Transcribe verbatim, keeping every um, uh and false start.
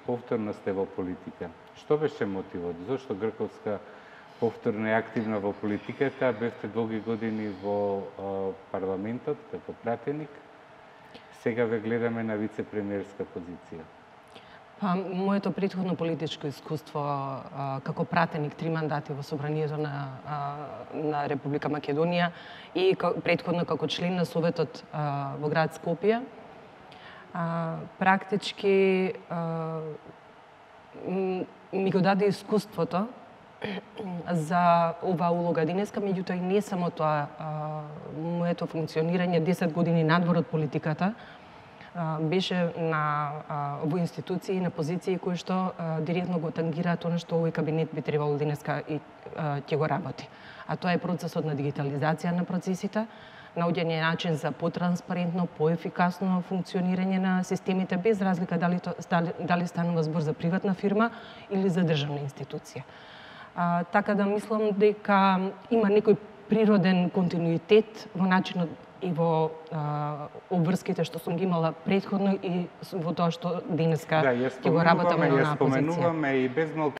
Повторно сте во политика. Што беше мотивот? Зошто Грковска повторно е активна во политиката, бевте долги години во а, парламентот како пратеник, сега ве гледаме на вице-премиерска позиција? Па, моето претходно политичко искуство а, како пратеник три мандати во Собранието на, а, на Република Македонија и претходно како член на Советот а, во град Скопје, а, практички а, ми го даде искуството за оваа улога денеска, меѓутоа и не само тоа, а, моето функционирање десет години надвор од политиката а, беше на а, во институции, на позиции кои што а, директно го тангираат она што овој кабинет би требало денеска и а, ќе го работи. А тоа е процесот на дигитализација на процесите, наоѓање начин за потранспарентно, поефикасно функционирање на системите, без разлика дали, то, дали станува збор за приватна фирма или за државна институција. А, така да мислам дека има некој природен континуитет во начинот и во а, обврските што сум ги имала претходно и во тоа што денеска ќе да, го работаме на позиција. Да, ја споменуваме и без малку